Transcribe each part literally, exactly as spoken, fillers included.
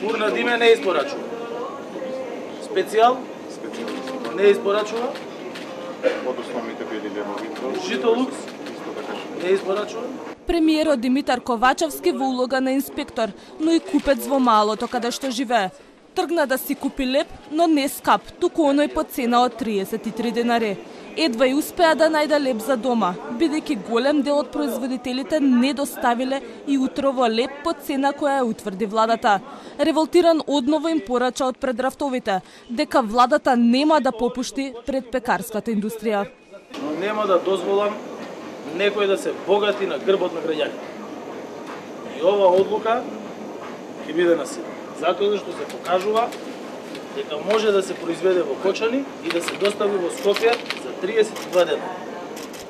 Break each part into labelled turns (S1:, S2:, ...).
S1: Фурна Диме не испорачува. Специјал не испорачува.
S2: Од основните бели лебови.
S1: Житолукс не испорачува.
S3: Премиерот Димитар Ковачевски во улога на инспектор, но и купец во малото каде што живее. Тргна да си купи леб, но не скап, туку оној по цена од триесет и три денари. Едва и успеа да најде леб за дома, бидејќи голем дел од производителите не доставиле и утрово леб по цена која ја утврди владата. Револтиран одново им порача од предрафтовите, дека владата нема да попушти пред пекарската индустрија.
S1: Но нема да дозволам некој да се богати на грбот на граѓаните. И ова одлука ќе биде на сила. Затоа што се покажува дека може да се произведе во Кочани и да се достави во Скопје за триесет и два дена.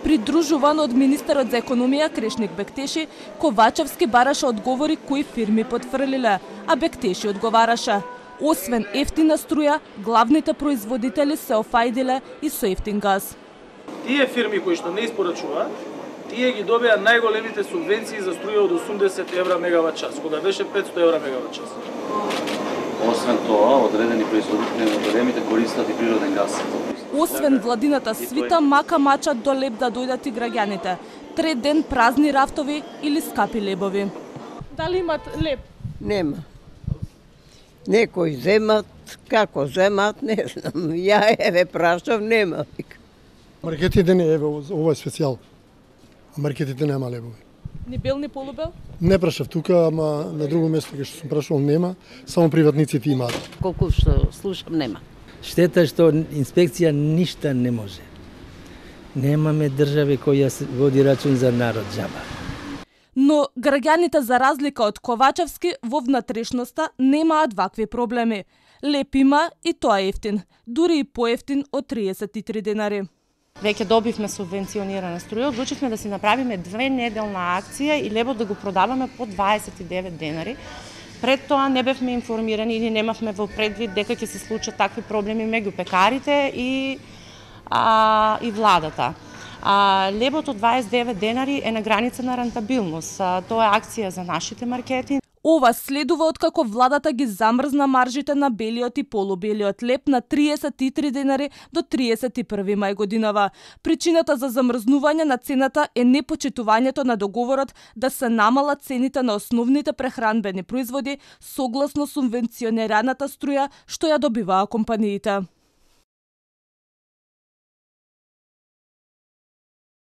S3: Придружуван од министерот за економија Крешник Бектеши, Ковачевски бараше одговори кои фирми потфрлиле, а Бектеши одговараше: освен ефтина струја, главните производители се офајдиле и со ефтин газ.
S1: Тие фирми кои што не испорачуваат, тие ги добија најголемите субвенции за струја од осумдесет евра мегават час, кога беше петсто евра мегават час.
S4: Освен тоа, одредени производители на големите користат и природен газ.
S3: Освен владината свита, мака мачат до леб да дојдат и граѓаните. Трет ден празни рафтови или скапи лебови. Дали имат леб?
S5: Нема. Некои земат, како земат, не знам. Ја еве прашав, нема.
S6: Маркетите не еве, ова е специјал. А маркетите нема лебови.
S3: Ни бел, ни полубел?
S6: Не прашав тука, ама на друго место кај што сум прашувал нема, само приватниците имаат.
S5: Колку што слушам, нема.
S7: Штета што инспекција ништа не може. Немаме држави која води рачун за народ џаба.
S3: Но граѓаните, за разлика од Ковачевски, во внатрешноста немаат вакви проблеми. Леб има и тоа е ефтин, дури и поевтин од триесет и три денари.
S8: Веќе добивме субвенционирана струја, одлучивме да си направиме две неделна акција и лебот да го продаваме по дваесет и девет денари. Пред тоа не бевме информирани или немавме во предвид дека ќе се случат такви проблеми меѓу пекарите и а, и владата. А, лебот од дваесет и девет денари е на граница на рентабилност. А, тоа е акција за нашите маркети.
S3: Ова следува откако владата ги замрзна маржите на белиот и полубелиот леб на триесет и три денари до триесет и први мај годинава. Причината за замрзнување на цената е непочитувањето на договорот да се намалат цените на основните прехранбени производи согласно субвенционираната струја што ја добиваа компаниите.